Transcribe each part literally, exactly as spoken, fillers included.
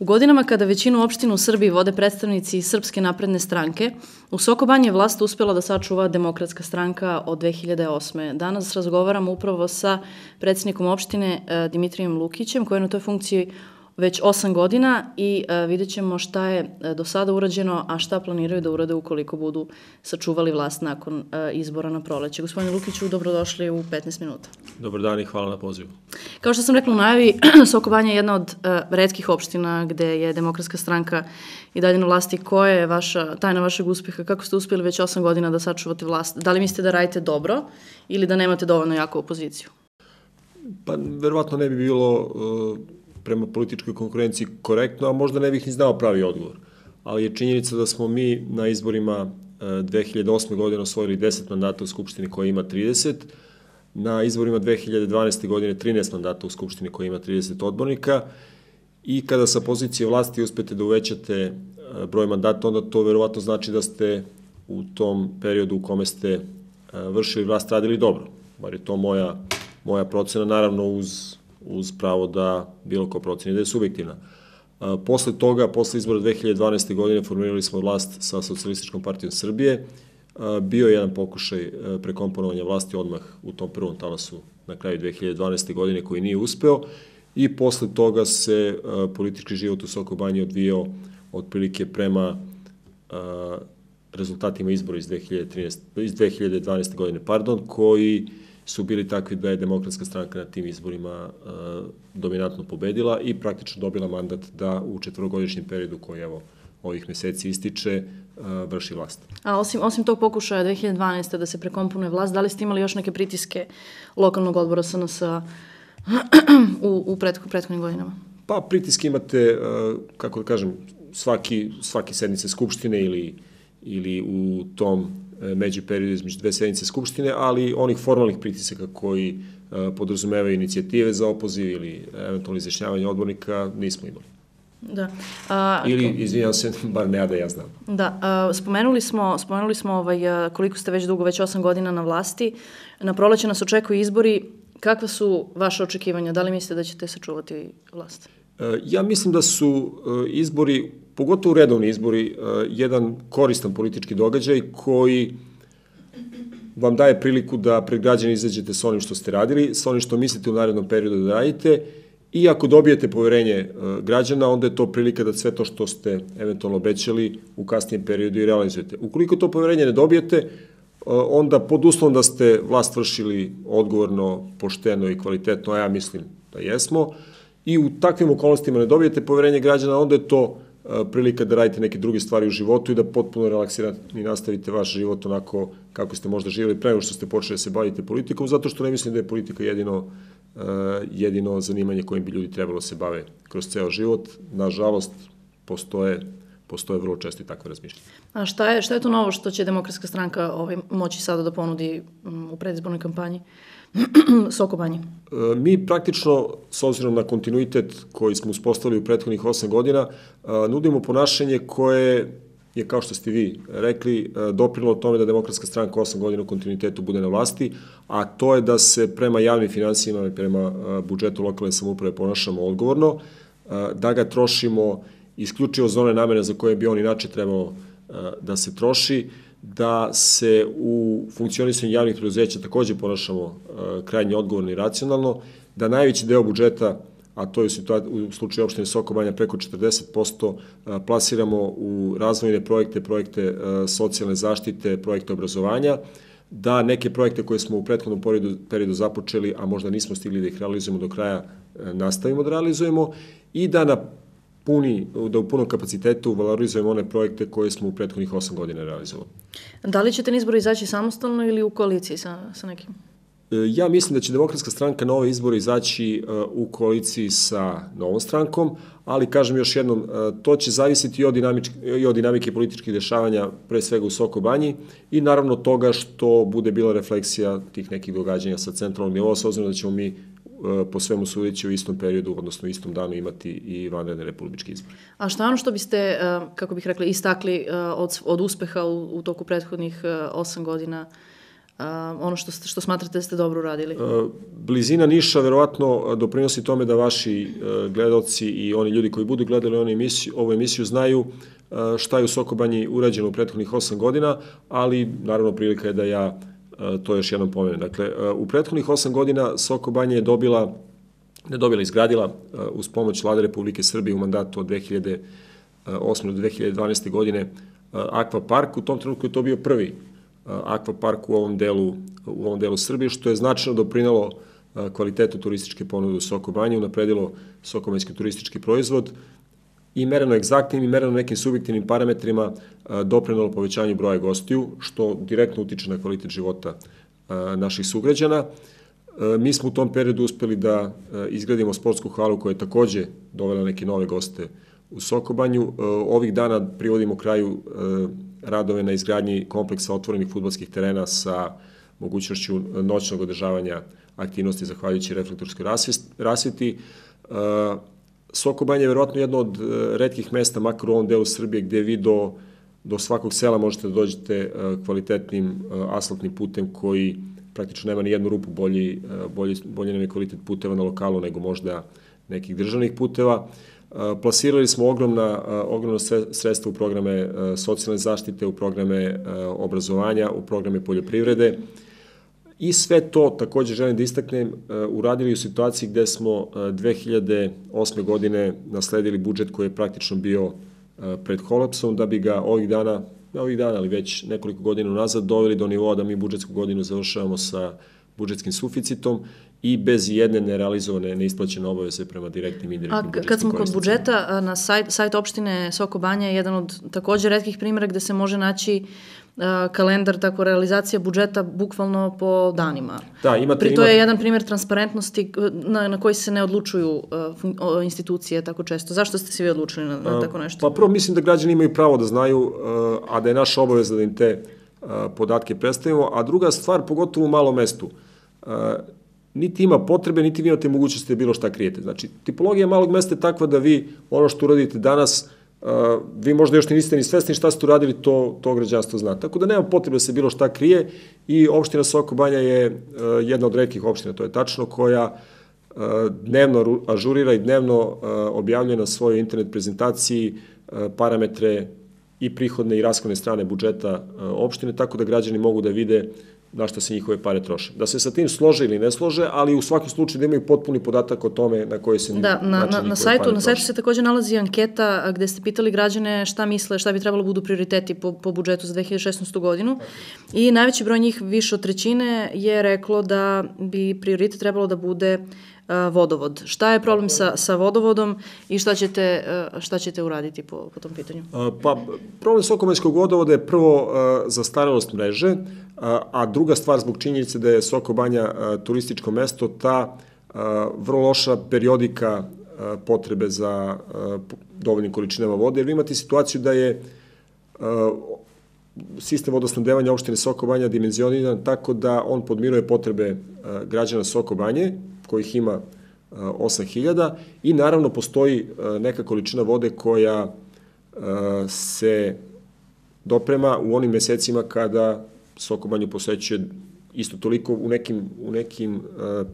U godinama kada većinu opština u Srbiji vode predstavnici Srpske napredne stranke, u Soko Banji je vlast uspjela da sačuva Demokratska stranka od dve hiljade osme. Danas razgovaramo upravo sa predsjednikom opštine Dimitrijem Lukićem, koji je na toj funkciji već osam godina i uh, vidjet ćemo šta je uh, do sada urađeno, a šta planiraju da urade ukoliko budu sačuvali vlast nakon uh, izbora na proleće. Gospodine Lukiću, dobrodošli u petnaest minuta. Dobar dan i hvala na pozivu. Kao što sam rekla u najavi, Soko Banja je jedna od uh, retkih opština gde je Demokratska stranka i dalje na vlasti. Koja je vaša, tajna vašeg uspeha? Kako ste uspjeli već osam godina da sačuvate vlast? Da li mislite da radite dobro ili da nemate dovoljno jaku opoziciju? Pa, verovatno ne bi bilo uh, prema političkoj konkurenciji korektno, a možda ne bih ni znao pravi odgovor. Ali je činjenica da smo mi na izborima dve hiljade osme. godine osvojili deset mandata u Skupštini koja ima trideset, na izborima dve hiljade dvanaeste. godine trinaest mandata u Skupštini koja ima trideset odbornika i kada sa pozicije vlasti uspete da uvećate broj mandata, onda to verovatno znači da ste u tom periodu u kome ste vršili vlast radili dobro. Bar je to moja, moja procena, naravno uz uz pravo da bilo ko proceni da je subjektivna. Posle toga, posle izbora dve hiljade dvanaeste. godine formirali smo vlast sa Socijalističkom partijom Srbije. Bio je jedan pokušaj prekomponovanja vlasti odmah u tom prvom talasu na kraju dve hiljade dvanaeste. godine koji nije uspeo i posle toga se politički život u Soko Banji odvijao otprilike prema rezultatima izbora iz dve hiljade dvanaeste. godine, pardon, koji su bili takvi da je Demokratska stranka na tim izborima uh, dominantno pobedila i praktično dobila mandat da u četvorogodišnjem periodu koji evo ovih meseci ističe uh, vrši vlast. A osim, osim tog pokušaja dve hiljade dvanaeste. da se prekomponuje vlast, da li ste imali još neke pritiske lokalnog odbora S N S u, u prethodnim godinama? Pa pritiske imate, uh, kako da kažem, svaki, svaki sednice Skupštine ili, ili u tom među periodu između dve sednice Skupštine, ali onih formalnih pritisaka koji uh, podrazumevaju inicijative za opoziv ili eventualno izjašnjavanje odbornika nismo imali. Da. A, ili, izvinjam se, bar ne da ja znam. Da, a, spomenuli smo, spomenuli smo ovaj, koliko ste već dugo, već osam godina na vlasti. Na proleće nas očekuju izbori. Kakva su vaše očekivanja? Da li mislite da ćete sačuvati vlast? Uh, ja mislim da su uh, izbori, pogotovo redovni izbori, jedan koristan politički događaj koji vam daje priliku da pred građani izađete sa onim što ste radili, sa onim što mislite u narednom periodu da radite i ako dobijete poverenje građana, onda je to prilika da sve to što ste eventualno obećali u kasnijem periodu i realizujete. Ukoliko to poverenje ne dobijete, onda pod uslovom da ste vlast vršili odgovorno, pošteno i kvalitetno, a ja mislim da jesmo, i u takvim okolnostima ne dobijete poverenje građana, onda je to prilika da radite neke druge stvari u životu i da potpuno relaksirate i nastavite vaš život onako kako ste možda živjeli pre nego što ste počeli da se bavite politikom, zato što ne mislim da je politika jedino, jedino zanimanje kojim bi ljudi trebalo se bave kroz ceo život. Nažalost, postoje, postoje vrlo često i takve razmišljanje. A šta je, šta je to novo što će Demokratska stranka ovaj, moći sada da ponudi u predizbornoj kampanji Soko Banji? Mi praktično, s obzirom na kontinuitet koji smo uspostavili u prethodnih osam godina, nudimo ponašanje koje je, kao što ste vi rekli, doprilo tome da Demokratska stranka osam godina u kontinuitetu bude na vlasti, a to je da se prema javnim finansijama i prema budžetu lokalne samouprave ponašamo odgovorno, da ga trošimo isključivo za one namene za koje bi on inače trebao da se troši, da se u funkcionisanju javnih preduzeća takođe ponašamo krajnje odgovorno i racionalno, da najveći deo budžeta, a to je u slučaju opštine Soko Banja preko četrdeset posto, plasiramo u razvojne projekte, projekte socijalne zaštite, projekte obrazovanja, da neke projekte koje smo u prethodnom periodu započeli, a možda nismo stigli da ih realizujemo do kraja, nastavimo da realizujemo i da na puni, da u punom kapacitetu valorizujemo one projekte koje smo u prethodnih osam godina realizovali. Da li ćete na izbore izaći samostalno ili u koaliciji sa, sa nekim? Ja mislim da će Demokratska stranka na ove izbore izaći u koaliciji sa Novom strankom, ali kažem još jednom, to će zavisiti i od, i od dinamike političkih dešavanja, pre svega u Soko Banji, i naravno toga što bude bila refleksija tih nekih događanja sa centralnog nivoa, s obzirom da ćemo mi po svemu sudeći u istom periodu, odnosno u istom danu imati i vanredne republičke izbore. A šta je ono što biste, kako bih rekla, istakli od, od uspeha u, u toku prethodnih osam godina ono što, što smatrate da ste dobro uradili? Blizina Niša verovatno doprinosi tome da vaši gledalci i oni ljudi koji budu gledali ovu emisiju, ovu emisiju znaju šta je u Soko Banji urađeno u prethodnih osam godina, ali naravno prilika je da ja to još jednom pomenem. Dakle, u prethodnih osam godina Soko Banja je dobila, ne dobila, izgradila uz pomoć Vlade Republike Srbije u mandatu od dve hiljade osme do dve hiljade dvanaeste. godine akvapark. U tom trenutku je to bio prvi akvapark u ovom delu, u ovom delu Srbije, što je značajno doprinalo kvalitetu turističke ponude u Soko Banji, unapredilo sokobanjski turistički proizvod i mereno egzaktnim i mereno nekim subjektivnim parametrima doprinalo povećanju broja gostiju, što direktno utiče na kvalitet života naših sugrađana. Mi smo u tom periodu uspeli da izgradimo sportsku halu koja je takođe dovela neke nove goste u Soko Banju. Ovih dana privodimo kraju radove na izgradnji kompleksa otvorenih fudbalskih terena sa mogućnošću noćnog održavanja aktivnosti zahvaljujući reflektorskoj rasveti. Soko Banja je verovatno jedno od retkih mesta, makar u ovom delu Srbije, gde vi do, do svakog sela možete da dođete kvalitetnim asfaltnim putem koji praktično nema ni jednu rupu, bolji, bolji, bolji nam je kvalitet puteva na lokalu nego možda nekih državnih puteva. Plasirali smo ogromna, ogromna sredstva u programe socijalne zaštite, u programe obrazovanja, u programe poljoprivrede i sve to, takođe želim da istaknem, uradili u situaciji gde smo dve hiljade osme. godine nasledili budžet koji je praktično bio pred kolapsom, da bi ga ovih dana, ne ovih dana, ali već nekoliko godina nazad doveli do nivoa da mi budžetsku godinu završavamo sa budžetskim suficitom i bez jedne nerealizovane, neisplaćene obaveze prema direktnim i indirektnim budžetskim korisnicima. A kad smo kod budžeta, na sajt, sajt opštine Soko Banja je jedan od takođe retkih primjera gde se može naći kalendar, tako realizacija budžeta bukvalno po danima. Da, imate, Pri to imate... je jedan primjer transparentnosti na, na koji se ne odlučuju uh, institucije tako često. Zašto ste se vi odlučili na, na tako nešto? Pa prvo mislim da građani imaju pravo da znaju, uh, a da je naša obaveza da im te uh, podatke predstavimo, a druga stvar, pogotovo u malom mestu, uh, niti ima potrebe, niti vi imate mogućnosti da bilo šta krijete. Znači, tipologija malog mesta je takva da vi ono što uradite danas, Uh, vi možda još niste ni svesni šta ste uradili, to, to građanstvo zna. Tako da nema potrebe da se bilo šta krije i opština Soko Banja je uh, jedna od retkih opština, to je tačno, koja uh, dnevno ažurira i dnevno uh, objavljuje na svojoj internet prezentaciji uh, parametre i prihodne i rashodne strane budžeta uh, opštine, tako da građani mogu da vide na što se njihove pare troše. Da se sa tim slože ili ne slože, ali u svakom slučaju da imaju potpuni podatak o tome na koji se da, način na, njihove na, na sajtu, pare troše. Na sajtu se takođe nalazi anketa gde ste pitali građane šta misle, šta bi trebalo budu prioriteti po, po budžetu za dve hiljade šesnaestu. godinu i najveći broj njih, više od trećine, je reklo da bi prioritet trebalo da bude uh, vodovod. Šta je problem sa, sa vodovodom i šta ćete, uh, šta ćete uraditi po, po tom pitanju? Uh, pa, problem sokobanjskog vodovoda je prvo uh, zastarelost mreže, a druga stvar zbog činjenice da je Soko Banja turističko mesto, ta vrlo loša periodika potrebe za dovoljnim količinama vode, jer vi imate situaciju da je sistem vodosnabdevanja opštine Soko Banja dimenzioniran tako da on podmiruje potrebe građana Soko Banje, kojih ima osam hiljada, i naravno postoji neka količina vode koja se doprema u onim mesecima kada Soko Banju posećuje isto toliko u nekim, u nekim uh,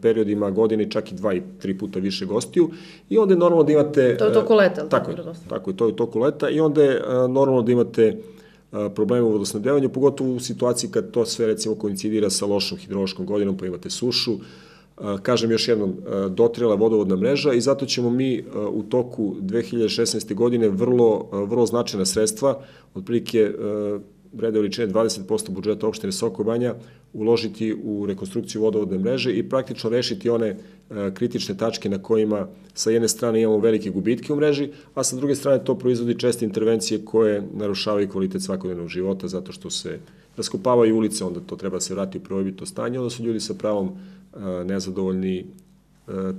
periodima godine, čak i dva i tri puta više gostiju, i onda je normalno da imate... To je u toku leta, uh, tako, je, tako je, to je u toku leta, i onda je uh, normalno da imate uh, probleme u vodosnabdevanju, pogotovo u situaciji kad to sve recimo koincidira sa lošom hidrološkom godinom, pa imate sušu. Uh, kažem još jednom, uh, dotrela vodovodna mreža, i zato ćemo mi uh, u toku dve hiljade šesnaeste. godine vrlo, uh, vrlo značajna sredstva, otprilike uh, vrede veličine dvadeset posto budžeta opštine Soko Banja, uložiti u rekonstrukciju vodovodne mreže i praktično rešiti one e, kritične tačke na kojima sa jedne strane imamo velike gubitke u mreži, a sa druge strane to proizvodi česte intervencije koje narušavaju kvalitet svakodnevnog života, zato što se raskopavaju ulice, onda to treba se vratiti u prvobitno stanje, onda su ljudi sa pravom e, nezadovoljni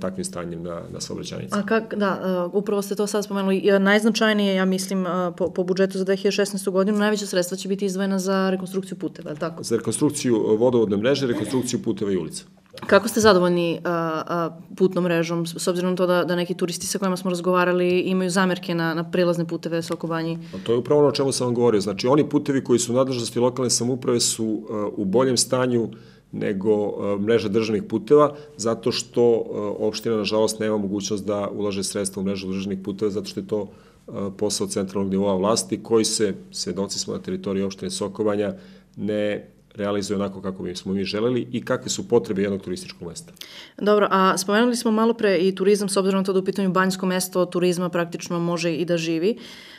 takvim stanjem na, na saobraćajnici. A kak, da, uh, upravo ste to sad spomenuli. Najznačajnije, ja mislim, uh, po, po budžetu za dve hiljade šesnaestu. godinu, najveća sredstva će biti izdvojena za rekonstrukciju puteva, je li tako? Za rekonstrukciju vodovodne mreže, rekonstrukciju puteva i ulica. Kako ste zadovoljni a, a, putnom mrežom, s obzirom na to da, da neki turisti sa kojima smo razgovarali imaju zamerke na, na prilazne puteve Soko Banji? To je upravo ono o čemu sam vam govorio. Znači, oni putevi koji su u nadležnosti lokalne samouprave su uh, u boljem stanju nego uh, mreža državnih puteva, zato što uh, opština, nažalost, nema mogućnost da ulaže sredstva u mrežu državnih puteva, zato što je to uh, posao centralnog nivoa vlasti, koji se, svedoci smo na teritoriji opštine Soko Banja, ne realizuje onako kako bi smo mi želeli i kakve su potrebe jednog turističkog mesta. Dobro, a spomenuli smo malo pre i turizam, s obzirom na to da u pitanju banjsko mesto od turizma praktično može i da živi.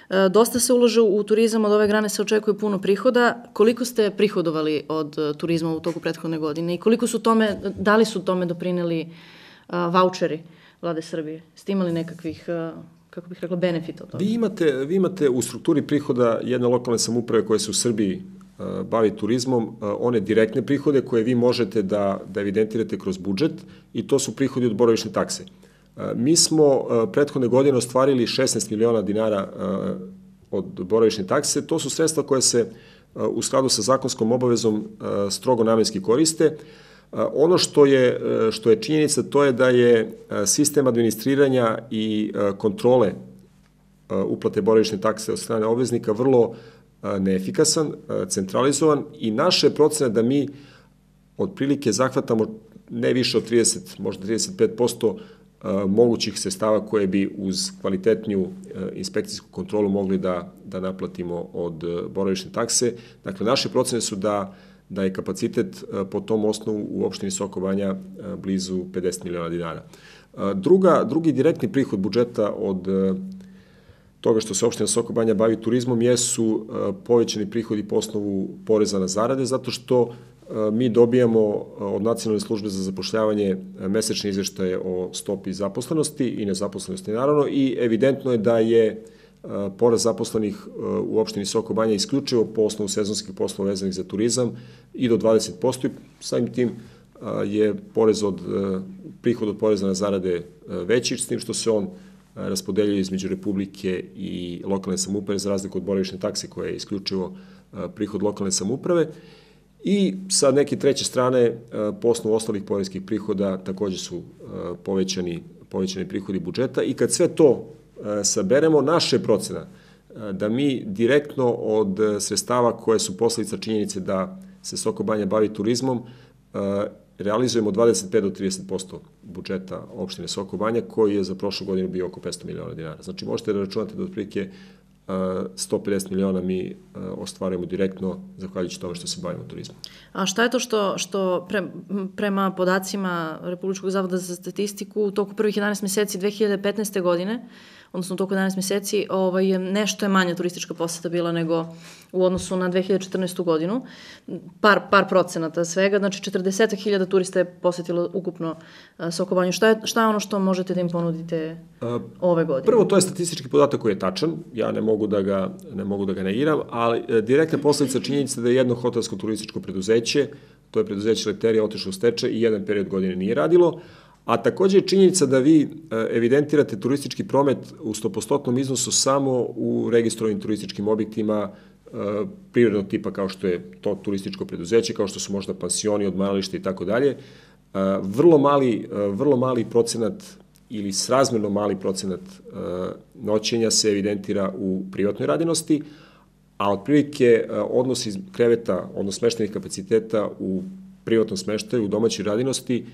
E, dosta se ulaže u turizam, od ove grane se očekuje puno prihoda. Koliko ste prihodovali od uh, turizma u toku prethodne godine i koliko su tome, da li su tome doprineli uh, vaučeri vlade Srbije? Ste imali nekakvih uh, kako bih rekla, benefita od toga? Vi imate, vi imate u strukturi prihoda jedne lokalne samouprave koje se u Srbiji bavi turizmom, one direktne prihode koje vi možete da, da evidentirate kroz budžet i to su prihodi od boravišne takse. Mi smo prethodne godine ostvarili šesnaest miliona dinara od boravišne takse. To su sredstva koje se u skladu sa zakonskom obavezom strogo namenski koriste. Ono što je, što je činjenica, to je da je sistem administriranja i kontrole uplate boravišne takse od strane obveznika vrlo neefikasan, centralizovan i naše procene da mi otprilike zahvatamo ne više od trideset, možda trideset pet posto mogućih sredstava koje bi uz kvalitetniju inspekcijsku kontrolu mogli da, da naplatimo od boravišne takse. Dakle, naše procene su da, da je kapacitet po tom osnovu u opštini Soko Banja blizu pedeset miliona dinara. Druga, drugi direktni prihod budžeta od toga što se opština Soko Banja bavi turizmom jesu povećani prihodi po osnovu poreza na zarade, zato što mi dobijamo od Nacionalne službe za zapošljavanje mesečne izveštaje o stopi zaposlenosti i nezaposlenosti naravno i evidentno je da je porast zaposlenih u opštini Soko Banja isključivo po osnovu sezonskih poslova vezanih za turizam i do dvadeset posto i samim tim je porez od, prihod od poreza na zarade veći, s tim što se on raspodeljuje između Republike i lokalne samouprave za razliku od boravišne takse koja je isključivo prihod lokalne samouprave. I sa neke treće strane, po osnovu ostalih poreskih prihoda takođe su povećani, povećani prihodi budžeta i kad sve to saberemo, naše procena da mi direktno od sredstava koje su posledica činjenice da se Soko Banja bavi turizmom realizujemo dvadeset pet do trideset posto budžeta opštine Soko Banja, koji je za prošlu godinu bio oko petsto miliona dinara. Znači, možete da računate da otprilike sto pedeset miliona mi ostvarujemo direktno zahvaljujući tome što se bavimo turizmom. A šta je to što, što pre, prema podacima Republičkog zavoda za statistiku u toku prvih jedanaest meseci dve hiljade petnaeste. godine, odnosno u toku jedanaest meseci, ovaj, nešto je manja turistička poseta bila nego u odnosu na dve hiljade četrnaestu. godinu. Par, par procenata svega, znači četrdeset hiljada turista je posetilo ukupno Soko Banju. Šta je, šta je ono što možete da im ponudite A, ove godine? Prvo, to je statistički podatak koji je tačan, ja ne mogu da ga, ne mogu da ga negiram, ali e, direktna posledica činjenica da je jedno hotelsko turističko preduzeće, to je preduzeće Leterija, otišlo u stečaj i jedan period godine nije radilo, a takođe je činjenica da vi evidentirate turistički promet u stopostotnom iznosu samo u registrovanim turističkim objektima privrednog tipa kao što je to turističko preduzeće, kao što su možda pansioni, odmaralište i tako dalje. Vrlo mali, vrlo mali procenat ili srazmerno mali procenat noćenja se evidentira u privatnoj radinosti, a otprilike odnos iz kreveta, odnos smeštenih kapaciteta u privatnom smeštaju, u domaćoj radinosti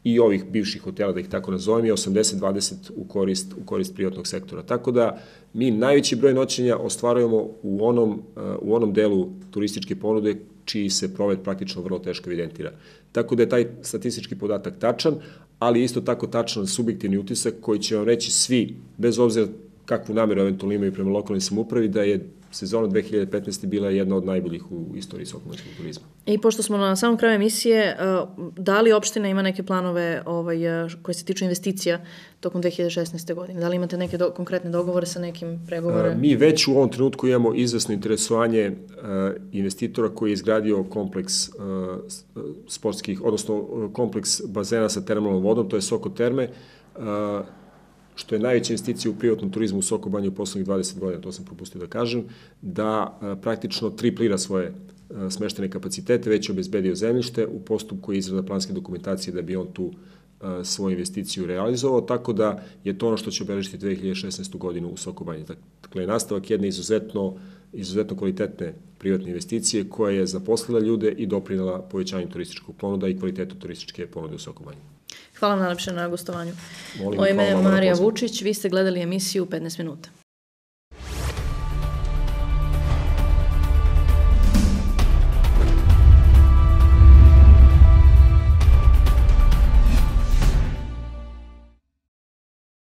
i ovih bivših hotela, da ih tako nazovem, je osamdeset dvadeset u korist, u korist privatnog sektora. Tako da mi najveći broj noćenja ostvarujemo u onom, u onom delu turističke ponude čiji se promet praktično vrlo teško evidentira. Tako da je taj statistički podatak tačan, ali isto tako tačan subjektivni utisak koji će vam reći svi, bez obzira kakvu nameru eventualno imaju prema lokalnoj samoupravi, da je sezona dve hiljade petnaeste. bila jedna od najboljih u istoriji sokobanjskog turizma. I pošto smo na samom kraju emisije, da li opština ima neke planove ovaj, koje se tiču investicija tokom dve hiljade šesnaeste. godine? Da li imate neke do, konkretne dogovore sa nekim pregovore? Mi već u ovom trenutku imamo izvesno interesovanje investitora koji je izgradio kompleks sportskih, odnosno kompleks bazena sa termalnom vodom, to je Soko Terme, što je najveća investicija u privatnom turizmu u Soko Banji u poslednjih dvadeset godina, to sam propustio da kažem, da praktično triplira svoje smeštene kapacitete, već je obezbedio zemljište u postupku izrada planske dokumentacije da bi on tu svoju investiciju realizovao, tako da je to ono što će obeležiti dve hiljade šesnaestu godinu u Soko Banji. Dakle, nastavak jedne izuzetno, izuzetno kvalitetne privatne investicije koja je zaposlila ljude i doprinela povećanju turističkog ponuda i kvalitetu turističke ponude u Soko Banji. Hvala vam najlepše na gostovanju. Molim, Moje ime je Marija Vučić, vi ste gledali emisiju petnaest minuta.